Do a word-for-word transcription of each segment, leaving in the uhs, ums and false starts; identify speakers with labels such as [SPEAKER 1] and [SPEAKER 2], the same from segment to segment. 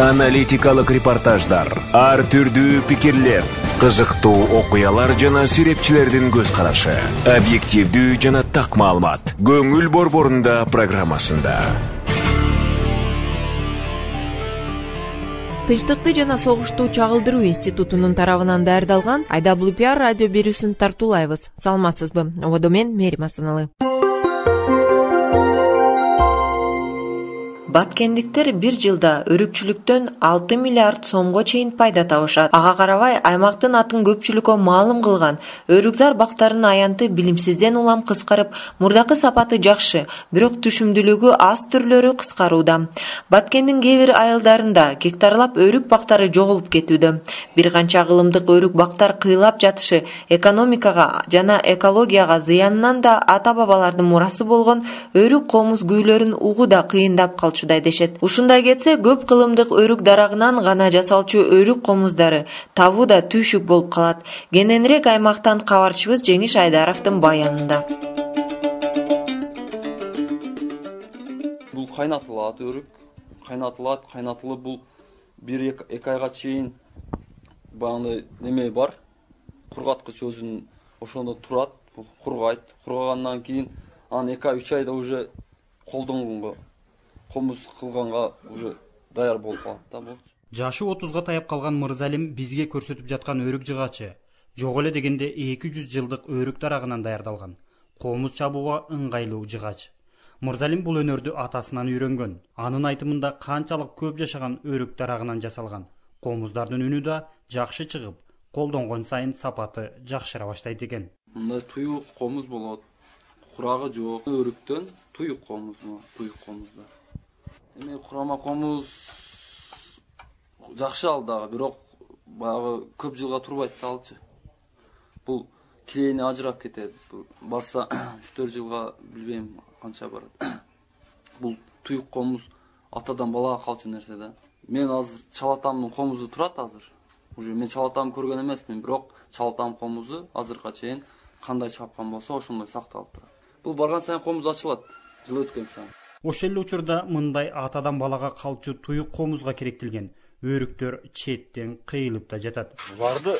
[SPEAKER 1] Аналитикалык репортаждар, ар түрдүү пикирлер, кызыктуу окуялар жана серепчилердин көз карашы. Объективдүү жана так маалымат. Көңүл борборунда программасында.
[SPEAKER 2] Тынчтыкты жана согушту чагылдыруу институтунун тарабынан даярдалган ай дабл ю пи ар радио берүүсүн тартуулайбыз. Саламатсызбы? Ободо мен Мерим Астаналы. Баткендиктер бир жылда өрүкчүлүктөн алты миллиард сомго чейин пайда табышат. Ага карабай, аймактын атын көпчүлүккө маалым кылган өрүкзар бактарынын аянты билимсизден улам кыскарып, мурдакы сапаты жакшы, бирок түшүмдүүлүгү аз түрлөрү кыскарууда. Баткендин кээ бир айылдарында гектарлап өрүк бактары жоголуп кетүүдө. Бир канча кылымдык өрүк бактар кыйлап жатышы экономикага жана экологияга зыянынан да ата-бабалардын мурасы болгон өрүк комуз күүлөрүн угууда кыйындап калчу дешет. Ушундай кетсе, көп кылымдык өрүк дарагынан гана жасалчу өрүк комуздары табуу да түйшүк болуп калат. Кененирээк аймактан кабарчыбыз Жеңиш Айдаровдун баянында.
[SPEAKER 3] Бул кайнатылат өрүк, кайнатылат, кайнатылып бул бир эки айга чейин багы неме бар, кургаткыч өзүнүн ошондо турат, бул кургайт. Кургагандан кийин анан эки ай үч айда уже колдонгонго комуз кылганга уже даяр болуп калат да болчу.
[SPEAKER 4] Жашы отузга таяп калган Мырзалим бизге көрсөтүп жаткан өрүк жыгачы жок эле дегенде эки жүз жылдык өрүк дарагынан даярдалган комуз чабууга ыңгайлуу жыгач. Мырзалим бул өнөрдү атасынан үйрөнгөн. Анын айтымында канчалык көп жашаган өрүк дарагынан жасалган комуздардын үнү да жакшы чыгып, колдонгон сайын сапаты жакшыра баштайт экен.
[SPEAKER 3] Мындай туюк комуз болот. Курагы жок өрүктөн туюк комуз, туюк комуздар. Эми курама комуз жакшы ал дагы, бирок баягы көп жылга турбайт да алчы. Бул килейини ажырап кетет. Барса үч төрт жылга билбейм канча барат. Бул туюк комуз атадан балага калчу нерсе да. Мен азыр чалатамдын комузу турат азыр. Уже мен чалатам көргөн эмесмин, бирок чалатам комузу азыркыга чейин кандай чапкан болсо ошондой сакталып турат. Бул барган сайын комуз ачылат, жыл өткөн сайын.
[SPEAKER 4] Ошол эле учурда мындай атадан балага калчу туюк комузга керектелген өрүктөр четтен кыйылып да жатат.
[SPEAKER 5] Барды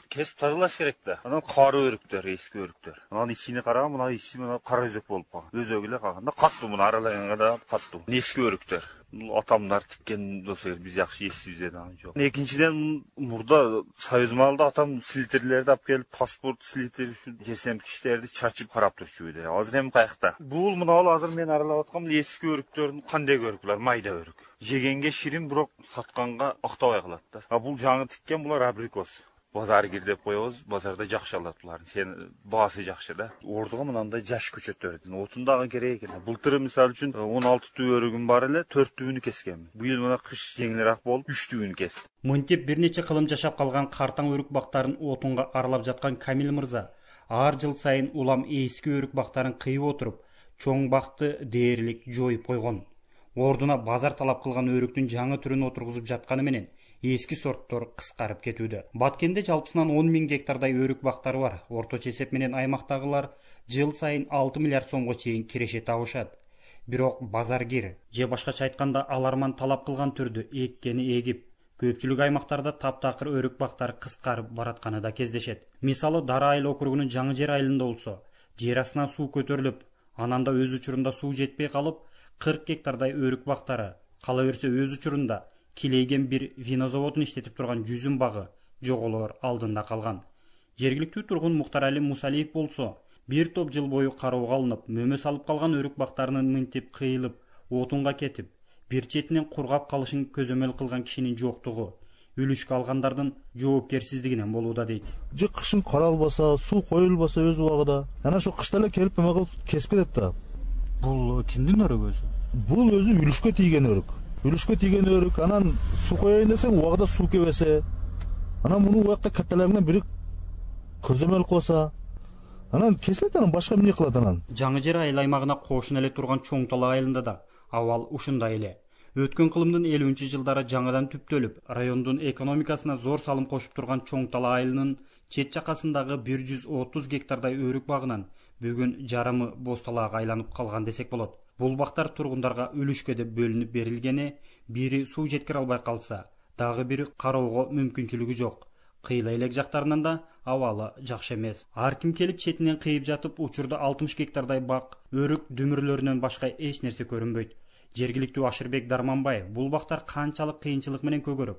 [SPEAKER 5] кесип тазалаш керек да. Анан кары өрүктөр, эски өрүктөр. Анан ичине караган, мына ичи мына кара өзөк болуп калган. Өзөгү эле калганда каттуу, муну аралаганга да каттуу. Эски өрүктөр. Бул атамдар тиккен болсо биз жакшы эсибизде да жок. Экинчиден, мурда Союз маалында атам слитерлерди алып келип, паспорт слитер үчүн жесемкичтерди чачып карап турчу үйдө. Азыр эми каякта? Бул мына ал азыр мен аралап аткан эски өрүктөрдүн кандай өрүк булар, майда өрүк. Жегенге ширин, бирок сатканга актабай калат да. А бул жаңы тиккен булар абрикос. Базар кирдеп коебуз, базарда жакшы алат булар. Сен баасы жакшы да. Ордуга мынандай жаш көчөттөрдүн отун дагы керек экен. Былтыр мисалы үчүн он алты түү өрүгүм бар эле, төрт түүнү кескенмин. Быйыл мына кыш жеңилирээк болуп үч түүнү кестим.
[SPEAKER 4] Мынтип бир нече кылым жашап калган картаң өрүк бактарын отунга аралап жаткан Камил мырза ар жыл сайын улам эски өрүк бактарын кыйып отуруп, чоң бакты дээрлик жоюп койгон. Ордуна базар талап кылган өрүктүн жаңы түрүн отургузуп жатканы менен эски сорттор кыскарып кетүүдө. Баткенде жалпысынан он миң гектардай өрүк бактары бар. Орточо эсеп менен аймактагылар жыл сайын алты миллиард сомго чейин киреше табышат. Бирок базаргер же башкача айтканда аларман талап кылган түрдү эккени эгип, көпчүлүк аймактарда таптакыр өрүк бактары кыскарып баратканы да кездешет. Мисалы Дара айыл округунун Жаңы Жер айылында болсо, жер астынан суу көтөрүлүп, анан да өз учурунда суу жетпей калып, кырк гектардай өрүк бактары, кала берсе өз учурунда килейген бир вино заводун иштетип турган жүзүм багы жоголоор алдында калган. Жергиликтүү тургун Муктарали Мусалиев болсо, бир топ жыл бою кароого алынып, мөмө салып калган өрүк бактарынын мынтип кыйылып, отунга кетип, бир четинен кургап калышын көзөмөл кылган кишинин жоктугу үлүшкө алгандардын жоопкерсиздигинен болууда дейт.
[SPEAKER 6] Же кышын каралбаса, суу коюлбаса өз убагында, анан ошо кышта эле келип эме кылып кесип кетет да.
[SPEAKER 4] Бул кимдин өрүгү өзү?
[SPEAKER 6] Бул өзү үлүшкө тийген өрүк. Үлүшкө тийген өрүк, анан суу коеюн десең, убагында суу кебесе, анан муну убакта катталарынан бири көзөмөл кылса, анан кесилет, анан башка эмне кылат анан.
[SPEAKER 4] Жаңы Жер айыл аймагына кошун эле турган Чоң Талаа айылында да абал ушундай эле. Өткөн кылымдын элүүнчү жылдары жаңыдан түптөлүп, райондун экономикасына зор салым кошуп турган Чоң Талаа айылынын чет жакасындагы бир жүз отуз гектардай өрүк багынан бүгүн жарымы боз талаага айланып калган десек болот. Бул бактар тургундарга үлүшкө деп бөлүнүп берилгени Бири суу жеткире албай калса, дагы бири кароого мүмкүнчүлүгү жок. Кыйла элек жактарынан да абалы жакшы эмес. Ар ким келип четинен кыйып жатып, учурда алтымыш гектардай бак, өрүк дүмүрлөрүнөн башка эч нерсе көрүнбөйт. Жергиликтүү Ашырбек Дарманбаев бул бактар канчалык кыйынчылык менен көгөрүп,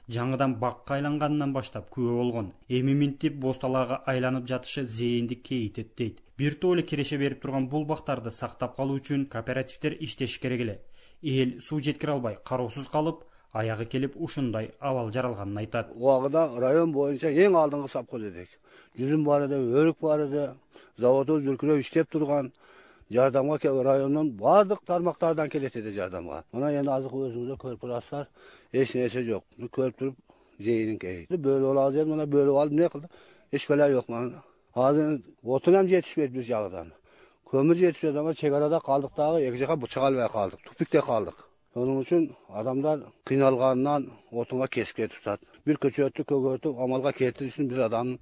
[SPEAKER 4] жаңыдан бакка айланганынан баштап күбө болгон. Эми минтип босталаага айланып жатышы зээнди кейитет дейт. Бир топ эле киреше берип турган бул бактарды сактап калуу үчүн кооперативдер иштеши керек эле. Эл суу жеткире албай кароосуз калып, аягы келип ушундай абал жаралганын айтат.
[SPEAKER 7] Убагында район боюнча эң алдыңкы сапкоз эдик. Жүзүм бар эди, өрүк бар эди, заводубуз дүркүрөп иштеп турган. Жардамга райондон бардык тармактардан келет эди жардамга. Мына эndi азыр өзүңүздөр көрүп турасыздар, эч нерсе жок. Көрүп туруп жейин кейт. Бөлүп алабыз дедим, мына бөлүп алып эмне кылды? Эч бала жок мына. Азыр отун ham жетишпейт биз жагынан. Көмүр жетишпейт, ага чек арада калдык дагы, эки жака чыга албай калдык. Тупикте калдык. Onun için adamlar kıynalgandan otunga kesip ketipsat. Bir köçötü kөгөртүп амалга келтириш үчүн бир адамдын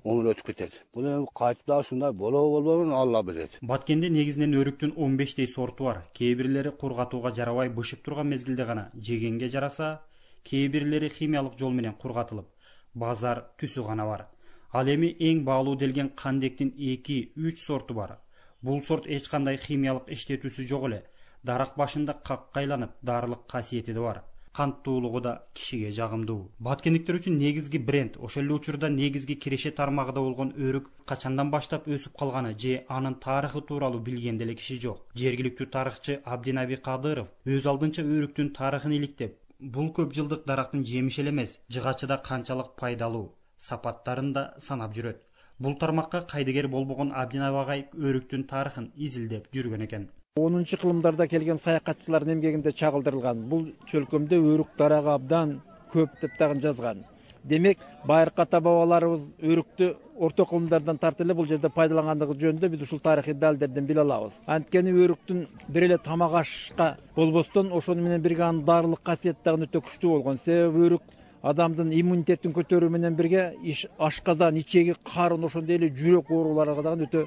[SPEAKER 7] өмүрү өтүп кетет. Бул эми кайтып дагы ушундай болобу болбойбу Алла билет.
[SPEAKER 4] Баткенде негизинен өрүктүн он бештей сорту бар. Кээ бирлери кургатууга жарабай бышып турган мезгилде гана жегенге жараса, кээ бирлери химиялык жол менен кургатылып, базар түсү гана бар. Ал эми эң баалуу делген кандектин эки үч сорту бар. Бул сорт эч кандай химиялык иштетүүсү жок эле. Дарак башында каккайланып, дарылык касиети да бар. Канттуулугу да кишиге жагымдуу. Баткендиктер үчүн негизги бренд, ошол эле учурда негизги киреше тармагында болгон өрүк качандан баштап өсүп калганы же анын тарыхы тууралуу билген деле киши жок. Жергиликтүү тарыхчы Абдинаби Кадыров өз алдынча өрүктүн тарыхын иликтеп, бул көп жылдык дарактын жемиши эле эмес, жыгачыда канчалык пайдалуу сапаттарын да санап жүрөт. Бул тармакка кайдыгер болбогон Абдинаби агай өрүктүн тарыхын изилдеп жүргөн экен.
[SPEAKER 8] онунчу кылымдарда келген саякатчылардын эмгегинде чагылдырылган. Бул чөлкөмдө өрүк дарагы абдан көп деп дагы жазган. Демек, байыркы ата бабаларыбыз өрүктү орто кылымдардан тартып эле бул жерде пайдалангандыгы жөнүндө биз ушул тарыхый далилдерден биле алабыз. Анткени өрүктүн бир эле тамак ашка болбостон ошону менен бирге анын дарылык касиети дагы өтө күчтүү болгон. Себеби өрүк адамдын иммунитетин көтөрүү менен бирге ашказан, ичеги, карын, ошондой эле жүрөк ооруларга дагы өтө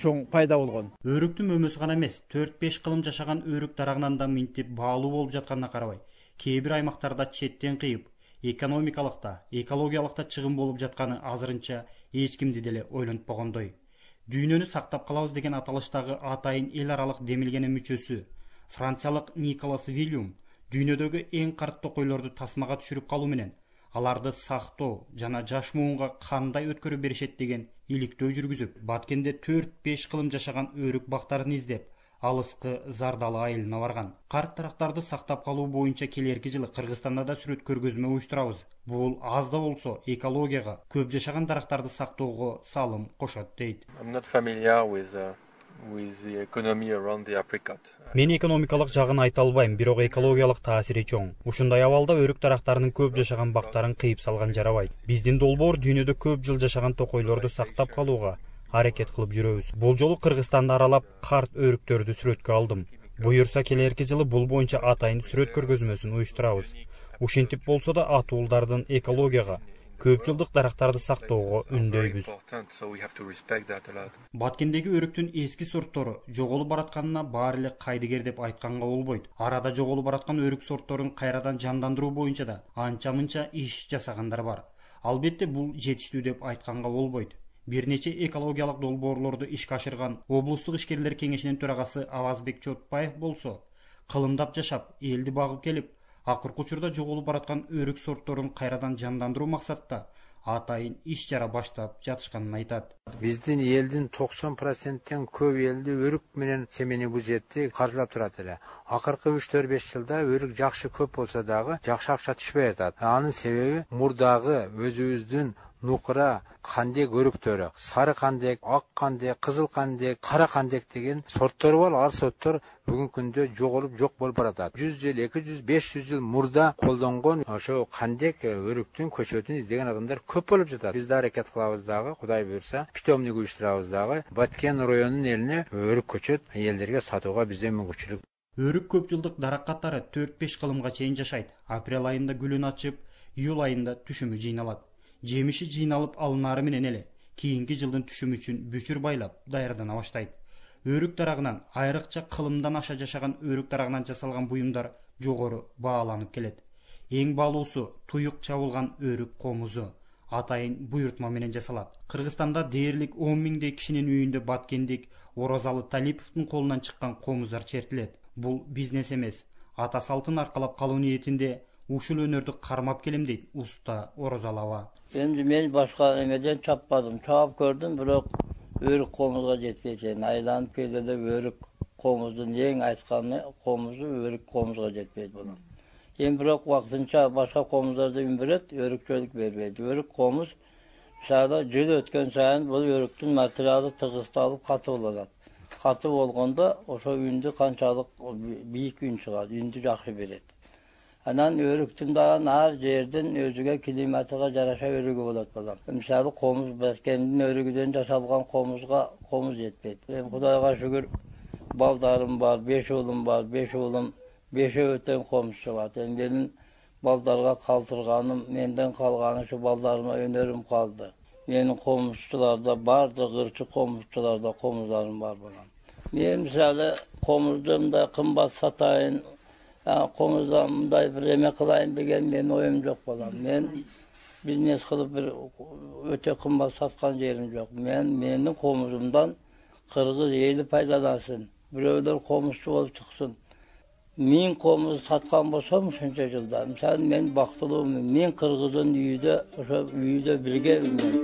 [SPEAKER 8] чоң пайда болгон.
[SPEAKER 4] Өрүктүн мөмөсү гана эмес, төрт беш кылым жашаган өрүк дарагынан да минтип баалуу болуп жатканына карабай, кээ бир аймактарда четтен кыйып, экономикалык да, экологиялык да чыгым болуп жатканы азырынча эч кимди деле ойлонтпогондой. Дүйнөнү сактап калабыз деген аталыштагы атайын эл аралык демилгенин мүчөсү, франциялык Николас Вильюм дүйнөдөгү эң карт токойлорду тасмага түшүрүп калуу менен аларды сактоо жана жаш муунга кандай өткөрүп беришет деген иликтөө жүргүзүп, Баткенде төрт беш кылым жашаган өрүк бактарын издеп, алыскы Зардалы айылына барган. Карт дарактарды сактап калуу боюнча келерки жылы Кыргызстанда да сүрөт көргөзмө уюштурабыз. Бул аз да болсо экологияга, көп жашаган дарактарды сактоого салым кошот дейт. Мен экономикалык жагын айта албайм, бирок экологиялык таасири чоң. Ушундай абалда өрүк дарактарынын көп жашаган бактарын кыйып салган жарабайт. Биздин долбоор дүйнөдө көп жыл жашаган токойлорду сактап калууга аракет кылып жүрөбүз. Бул жолу Кыргызстанды аралап карт өрүктөрдү сүрөткө алдым. Буюрса келерки жылы бул боюнча атайын сүрөт көргөзмөсүн уюштурабыз. Ушинтип болсо да атуулдардын экологияга, көп жылдык дарактарды сактоого үндөйбүз. Баткендеги өрүктүн эски сорттору жоголуп баратканына баары эле кайдыгер деп айтканга болбойт. Арада жоголуп бараткан өрүк сортторун кайрадан жандандыруу боюнча да анча-мынча иш жасагандар бар. Албетте бул жетиштүү деп айтканга болбойт. Бир нече экологиялык долбоорлорду ишке ашырган облустук ишкерлер кеңешинин төрагасы Авазбек Чотпаев болсо, кылымдап жашап, элди багып келип, акыркы учурда жоголуп бараткан өрүк сортторун кайрадан жандандыруу максатта атайын иш чара баштап жатышканын айтат.
[SPEAKER 9] Биздин элдин токсон проценттен көп элди өрүк менен семени бюджетти каржылап турат эле. Акыркы үч төрт беш жылда өрүк жакшы көп болсо дагы жакшы акча түшпөй атат. Анын себеби мурдагы өзүбүздүн нукура кандек өрүктөрү, сары кандек, ак кандек, кызыл кандек, кара кандек деген сорттор бар. Ал сорттор бүгүнкү күндө жоголуп жок болуп баратат. жүз жыл, эки жүз, беш жүз жыл мурда колдонгон ошо кандек өрүктүн көчөтүн издеген адамдар көп болуп жатат. Биз да аракет кылабыз дагы, Кудай буйрса, питомник уюштурабыз дагы. Баткен районунун элине өрүк көчөт элдерге сатууга бизде мүмкүнчүлүк.
[SPEAKER 4] Өрүк көп жылдык дарак катары төрт беш кылымга чейин жашайт. Апрель айында гүлүн ачып, июль айында түшүмү жыйналат. Жемиши жыйналып алынары менен эле кийинки жылдын түшүмү үчүн бүчүр байлап даярдана баштайт. Өрүк дарагынан, айрыкча кылымдан аша жашаган өрүк дарагынан жасалган буюмдар жогору бааланып келет. Эң баалуусу туюк чабылган өрүк комузу атайын буйртма менен жасалат. Кыргызстанда дээрлик он миңдей кишинин үйүндө Баткендик Орозалы Талиповдун колунан чыккан комуздар чертилет. Бул бизнес эмес, ата салтын аркалап калуу ниетинде ушул өнөрдү кармап келем дейт уста Орозалова.
[SPEAKER 10] Эми мен башка эмеден чаппадым, чаап көрдүм, бирок өрүк комузга жетпей экен. Айланып келди деп өрүк комуздун эң айтканы комузу өрүк комузга жетпейт болот. Эми бирок вакытынча башка комуздарды берет, өрүкчөлүк бербейт. Өрүк комуз мисалы жыл өткөн сайын бул өрүктүн материалы тыгысталып катуу болот. Катуу болгондо ошо үндү канчалык бийик үн чыгат, үндү жакшы берет. Анан өрүктүн дагы ар жердин өзүгө климатыга жараша өрүгү болот балам. Мисалы комуз Баткендин өрүгүдөн жасалган комузга комуз жетпейт. Эми Кудайга шүгүр балдарым бар, беш уулум бар, беш уулум бешөө тең комуз чыгат. Эми менин балдарга калтырганым, менден калганы ушу балдарыма өнөрүм калды. Менин комузчуларда бардык ырчы комузчуларда комуздарым бар балам. Мен мисалы комузду мындай кымбат сатайын, комуздан мындай бир эме кылайын деген менин оюм жок балам. Мен бизнес кылып бир өтө кымбат саткан жерим жок. Мен менин комузумдан кыргыз эли пайдалансын, бирөөлөр комузчу болуп чыксын. Мен комуз саткан болсом ушунча жылда, мисалы мен бактылуумун, мен кыргыздын үйүдө, ошо үйүдө билгенмин мен.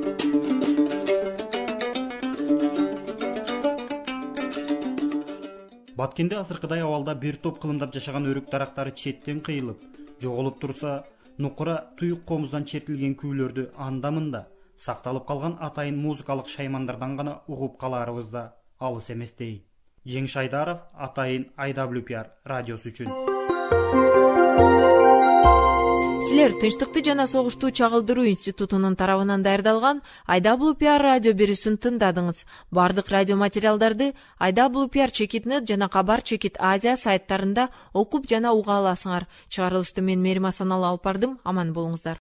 [SPEAKER 4] Баткенде азыркыдай абалда бир топ кылымдап жашаган өрүк дарактары четтен кыйылып, жоголуп турса, нукура туюк комуздан чертилген күүлөрдү анда-мында сакталып калган атайын музыкалык шаймандардан гана угуп калаарыбыз да алыс эмес дейт. Жеңиш Айдаров, атайын ай дабл ю пи ар радиосу үчүн.
[SPEAKER 2] Силер Тынчтыкты жана согушту чагылдыруу институтунун тарабынан даярдалган ай дабл ю пи ар радио берүүсүн тыңдадыңыз. Бардык радио материалдарды ай дабл ю пи ар чекит нет жана Кабар чекит Азия сайттарында окуп жана уга аласыңар. Чыгарылышты мен Мерим Асаналы алып бардым. Аман болуңуздар.